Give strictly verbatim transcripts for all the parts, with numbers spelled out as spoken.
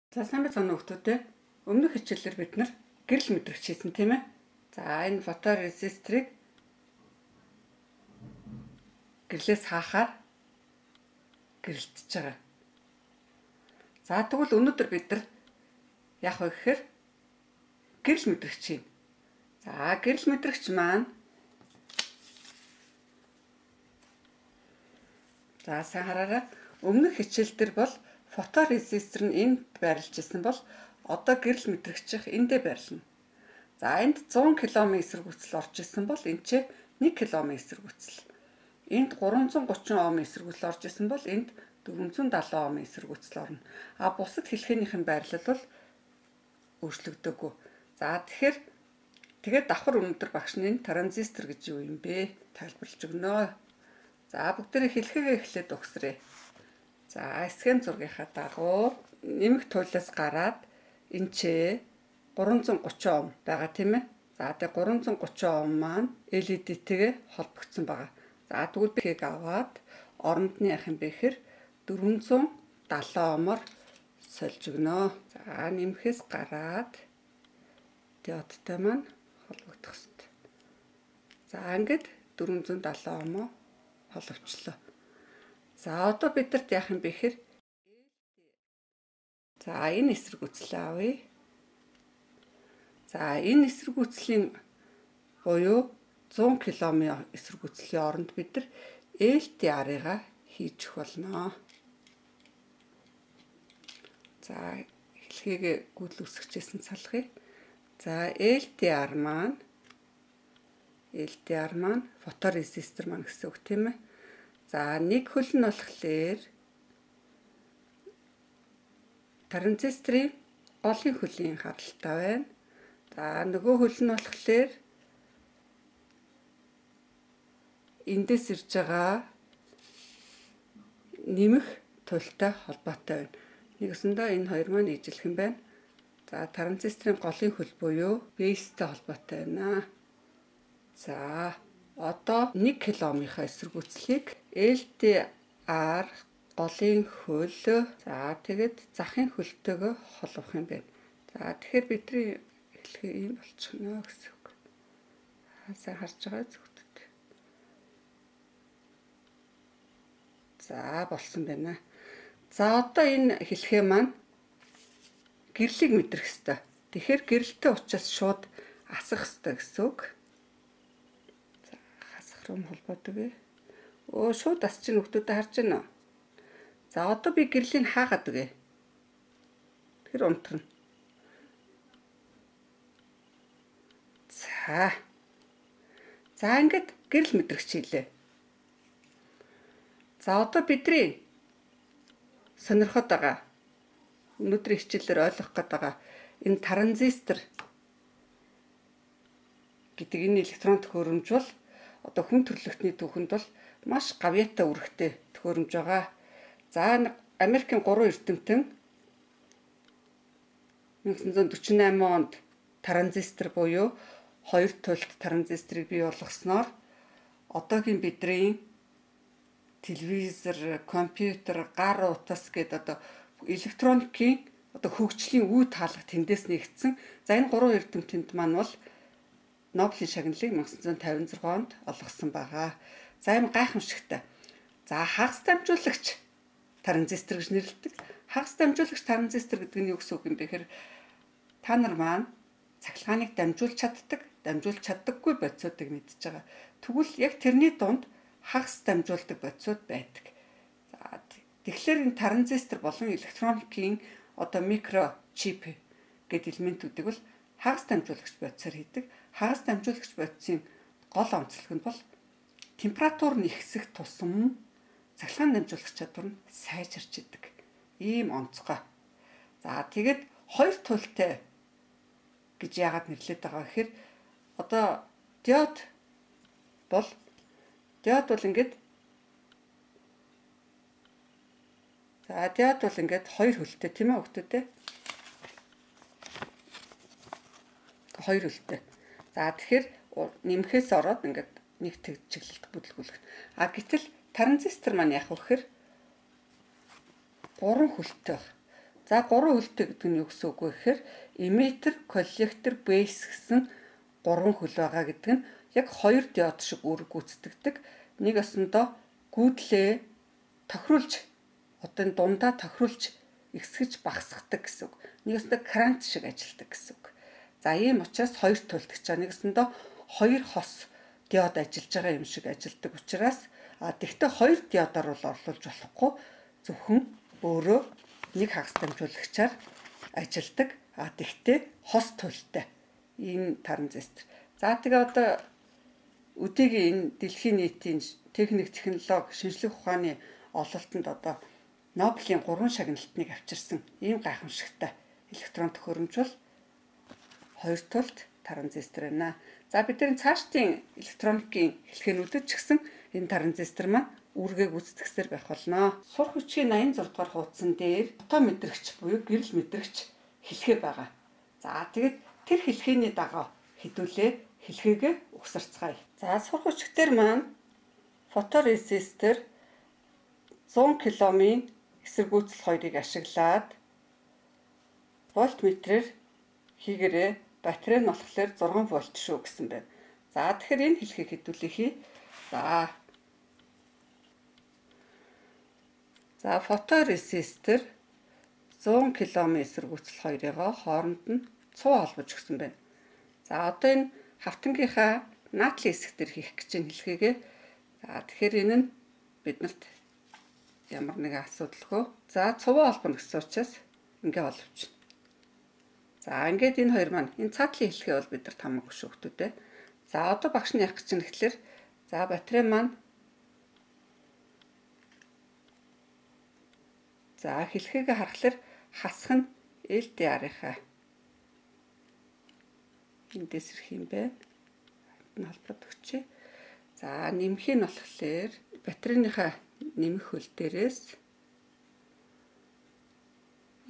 За сайн байна уу хүмүүстээ. Өмнөх хичээлээр бид нар гэрэл мэдрэгч хийсэн тийм ээ. За энэ фоторезистрийг гэрлээс хаахаар гэрэлтэж байгаа. За тэгвэл өнөөдөр бид нар яах вэ гэхээр гэрэл мэдрэгч хийн. За гэрэл мэдрэгч маань За сайн хараарай. Өмнөх хичээл дээр бол фоторезистор нь энд байрлаж исэн бол одоо гэрэл мэдрэгчих эндээ байрлана. За энд зуун километр эсэргүүцэл орж исэн бол энд ч нэг километр эсэргүүцэл. Энд гурван зуун гучин ом эсэргүүцэл орж исэн бол энд дөрвөн зуун далайн ом эсэргүүцэл орно. А бусад хэлхээнийхэн байрлал бол өөрчлөгдөөгүй. За тэгэхээр тэгээд давхар өнөөдөр багш нь транзистор гэж юу юм бэ? Тайлбарлаж өгнө. За бүгдээрээ хэлхээгээ эхлээд өгсрээ. За схем зургийнхаа дагуу нэмэх туйлаас гараад энэ ч гурван зуун гучин ом байгаа тийм ээ. За тэгээ гурван зуун гучин ом маань эл и ди-тэйгээ холбогдсон байгаа. За тэгвэл би хийг аваад оронд нь яах юм бэ гэхээр дөрвөн зуун далайн омоор сольж өгнө. За нэмэхээс гараад диодтай маань холбогдох хэрэгтэй. За ингээд дөрвөн зуун далайн омоо холбогчлоо. За одоо бидэрт яах юм бэ гэхээр За энэ эсэргүүцлээ авъя. За энэ эсэргүүцлийн буюу зуун километр эсэргүүцлийн оронд бид нар эл ти ар-ыг хийж өгөх болно. За хэлхийгээ гүйтэл үсгчээсэн салхыг. За эл ти ар маань эл ти ар маань фоторезистор маань гэсэн үг тийм ээ. За нэг хөл нь болохоор транзисторын голын хөлийн харалтай байна. За нөгөө хөл нь болохоор эндээс ирж байгаа нэмэх туйлтай холбоотой байна. Нэгсэндээ энэ хоёр маань ижилхэн юм байна. За транзисторын голын хөл буюу бейстэй холбоотой байна. За одоо нэг километрийн эсэргүүцлийг эл ти ар голын хөл за тэгээд захын хөлтөөгөө холбох юм байна. За тэгэхээр бидний хэлхий ийм болчихно гэсэн үг. Сайн харж байгаа зүгтд. За болсон байна. За одоо энэ хэлхээ маань гэрлийг мэдрэх ёстой. Тэгэхээр гэрэлтэй учраас шууд асах ёстой гэсэн үг. За хасах руу холбоодог ээ. Өө шууд асч чинь хүмүүстэй харж байна уу? За одоо би гэрлийг хаагаад үгээ. Тэр унтарна. За. За ингээд гэрэл мэдрэгч хийлээ. За одоо бидний сонирхоод байгаа өнөөдрийн хичээлээр ойлгох гээд байгаа энэ транзистор гэдэг энэ электронт төхөөрөмж бол одоо хүн төрөлхтний түүхэнд бол маш гавьяатай үүрэгтэй төхөөрөмж байгаа. За Америкийн гурван эрдэмтэн мянга санаа зуун дөрвөн найман онд транзистор буюу хоёр туйлт транзисторыг бий болгосноор одоогийн бидний телевизор, компьютер, гар утас гэдэг одоо электроникийн одоо хөгжлийн үе таалга тэндээс нэгдсэн. За энэ гурван эрдэмтэнд маань бол Нобелийн шагналыг мянга санаа зуун тавин зургаан онд олгосон байгаа. За энэ гайхамшигтай. За хагас дамжуулагч транзистор гэж нэрлэдэг. Хагас дамжуулагч транзистор гэдэг нь юу гэсэн үг юм бэ гэхээр та нар маань цахилгааныг дамжуулж чаддаг, дамжуулж чаддаггүй бодисуудыг мэдж байгаа. Тэгвэл яг тэрний дунд хагас дамжуулдаг бодисууд байдаг. За тэгэхээр энэ транзистор болон электроникийн одоо микрочип гэдэг элементүүдийг бол хагас дамжуулагч бодисоор хийдэг. Хагас дамжуулагч бодисын гол онцлог нь бол температур нь ихсэх тусам цахилгаан дамжуулагч чадвар нь сайжирч идэг. Ийм онцгой. За тэгээд хоёр туйлтай гэж яагаад нэрлэдэг байгаа гэхээр одоо диод бол диод бол ингээд За диод бол ингээд хоёр хөлтэй тийм ээ хөлтөтэй. Хоёр хөлтэй. За тэгэхээр нэмэхээс ороод ингээд нэг тэг чиглэлд бүтлгүүлэх. А гэтэл транзистор маань яах вэ гэхээр гурван хөлтэй баг. За гурван хөлтэй гэдэг нь юу гэсэн үг вэ гэхээр эмиттер, коллектор, бейс гэсэн гурван хөл байгаа гэдэг нь яг хоёр диод шиг үүрэг гүйцэтгэдэг. Нэг осондоо гүйдлээ тохируулж одоо энэ дундаа тохируулж ихсгэж багасгадаг гэсэн үг. Нэг осондоо крант шиг ажилладаг гэсэн үг. За ийм учраас хоёр төлтөгч байгаа. Нэг осондоо хоёр хос диод ажиллаж байгаа юм шиг ажилладаг учраас а тэгтээ хоёр диодоор бол орлуулж болохгүй. Зөвхөн өөрөө нэг хагас дамжуулагчаар ажилладаг. А тэгтээ хос төлтэй ийм транзистор. За тэгээ одоо өдөөгийн энэ дэлхийн нийтийн техник технологи шинжлэх ухааны ололтод одоо Нобелийн гурван шагналтыг авчирсан ийм гайхамшигтай электрон төхөөрөмж бол хоёр тулд транзистор байна. За бидний цаашдын электроникийн хэлхэнүүдэд ч гэсэн энэ транзистор маань үүргээ гүйцэтгэсээр байх болно. Сурах хүчгийн аян зураг дугаар хуудсан дээр фото мэдрэгч буюу гэрэл мэдрэгч хэлхээ байгаа. За тэгэд тэр хэлхээний дагуу хэдүүлээ хэлхээгээ угсарцгаая. За сурах хүчгээр маань фоторезистор зуун киломын эсэргүүцэл хоёрыг ашиглаад вольтметрээр хийгээрээ батарей нь болохоор зургаан вольт шүү гэсэн байна. За тэгэхээр энэ хэлхийг хэдүүлээ. За За фоторезистор зуун киломын эсэргүүцэл хоёрыгоо хооронд нь цуу холбож өгсөн байна. За одоо энэ хавтангийнхаа наатлын хэсэг дээр хийх гэж энэ хэлхийгээ. За тэгэхээр энэ нь биднэрт ямар нэгэн асуудалгүй. За цуваа холбоно гэсэн учраас ингээ боловч. За ингээд энэ хоёр маань энэ цаатлын хэлхээ бол бидэрт хамаагүй шүү хүмүүстээ. За одоо багш нь яах гэж байна гэхэлэр за батарей маань за хэлхээгээ харахаар хасах нь эл ди ар-ийнхаа эндээс ирэх юм байна. Энэ холбоод өгчээ. За нэмэх нь болохоор батарейныхаа нэмэх хөл дээрээс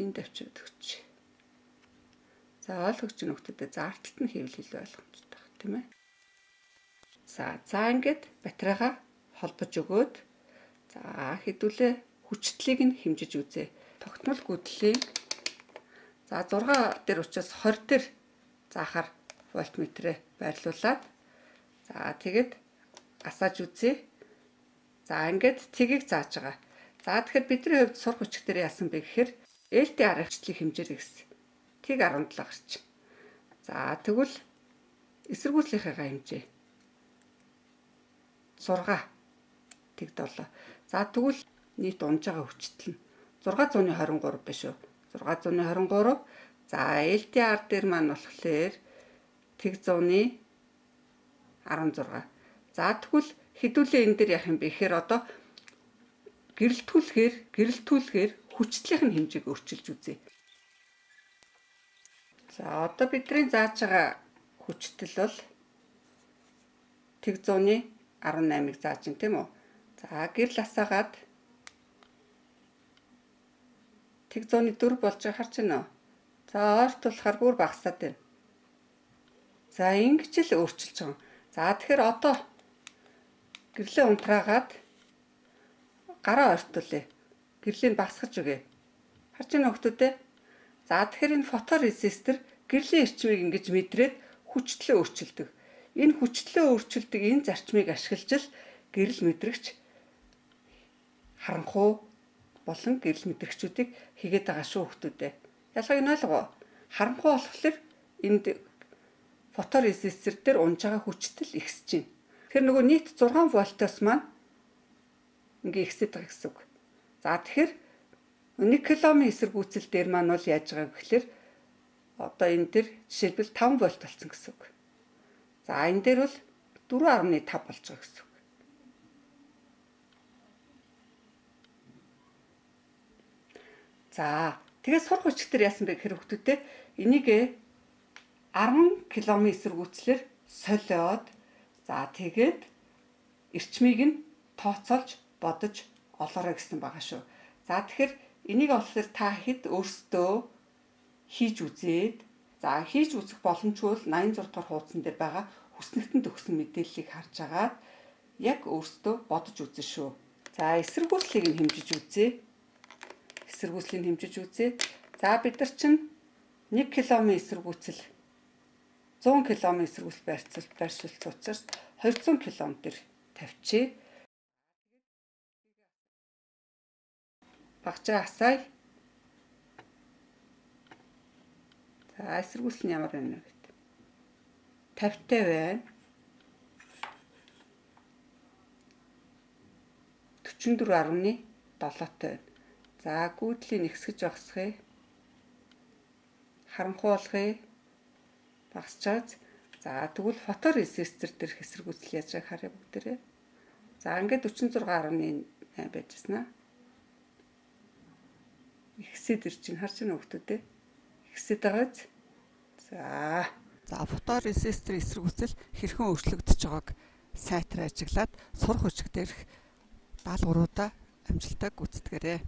энд авчирд өгч. За ойлгож гэнэ хүмүүстээ за арталт нь хийвэл илүү ойлгомжтой байна, тийм ээ. За за ингээд батарейгаа холбож өгөөд за хэдүүлээ хүчтлийг нь хэмжиж үзье. Тогтмол гүйтгэлийн за зураг дээр учраас хорь дээр заахаар вольтметрээ байрлуулад за тэгэд асааж үзье. За ингээд тгийг зааж байгаа. За тэгэхээр бидний хувьд сурах хүч дээр яасан бэ гэхээр эл ди ар-члийг хэмжээрэй гэсэн. Тиг арван долоо гарч. За тэгвэл эсэргүүцлийнхээ хэмжээ зураг тэг долоо. За тэгвэл нийт унж байгаа хүчтэл нь зургаан зуун хорин гурав биш үү? зургаан зуун хорин гурав. За эл ди ар дээр маань болохоор тэг зуун арван зураг. За тэгвэл хэдүүлээ энэ дээр яах юм бэ гэхээр одоо гэрэлтүүлэхээр гэрэлтүүлэхээр хүчтлийнх нь хэмжээг өөрчилж үзье. За одоо бидний зааж байгаа хүчтэл бол тэг зуун арван наймыг зааж байна тийм үү? За гэрэл асаагаад тэг зуун дөрв болж байгаа харж байна уу? За ойрт болохоор бүр багасаад байна. За ингэж л өөрчилж байгаа. За тэгэхээр одоо гэрлээ унтраагаад гараа ойртуулъя. Гэрлийн багсгаж өгье. Харж байна уу хүмүүстээ? За тэгэхээр энэ фоторезистор гэрлийн эрчмийг ингэж мэдрээд хүчтлээ өөрчилдөг. Энэ хүчтлээ өөрчилдөг энэ зарчмыг ашиглаж л гэрэл мэдрэгч харанхуй болон гэрэл мэдрэгчүүдийг хийгээд байгаа шүү хүмүүстээ. Ялгааг нь ойлгоо. Харанхуй болохоор энд фоторезистор дээр унж байгаа хүчтэл ихсэж байна. Тэгэхээр нөгөө нийт зургаан вольтоос маань ингээ ихсэж байгаа гэсэн үг. За тэгэхээр нэг киломын эсэргүүцэл дээр маань бол яаж байгаа гэхээр одоо энэ дээр жишээлбэл таван вольт болсон гэсэн үг. За энэ дээр бол дөрвөн арван тав болж байгаа гэсэн үг. За тэгээд сурах хүчгээр яасан бэ гэхээр хүмүүстээ энийг арван киломын эсэргүүцлэр солиод за тэгээд эрчмийг нь тооцоолж бодож олоорой гэсэн байгаа шүү. За тэгэхээр энийг болохоор та хэд өөрсдөө хийж үзээд за хийж үзэх боломжгүй бол найман зураг дугаар хуудсан дээр байгаа хүснэгтэнд өгсөн мэдээллийг харж агаад яг өөрсдөө бодож үзэн шүү. За эсэргүүцлийг нь хэмжиж үзье. Эсэргүүцлийг хэмжиж үзье. За бид нар чинь нэг километр эсэргүүцэл зуун километр эсэргүүцэл байрцуулт байршуулсан учраас двухсот километр тавьчих. Багчаа асаая. За эсэргүүцэл нь ямар байна вэ гэдэг. пятьдесят байна. четыре дөрвөн байна. За гүйдлийн нэгсгэж багсахыг. Харанхуй болгоё. Багсчаач. За тэгвэл фоторезистор дээрх эсэргүүцэл яаж байгааг харъя бүгдээрээ. За ингээд четыре дөрвөн байжсэн аа. Ихсэд ир чинь харж байна хүмүүстээ. Ихсэд байгааз. За. За фоторезистор эсэргүүцэл хэрхэн өөрчлөгдөж байгааг сайтар ажиглаад сурах хүчиг дээрх даалгавруудаа амжилттай гүйцэтгээрэй.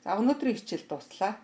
За өнөөдрийн хичээл дуслаа.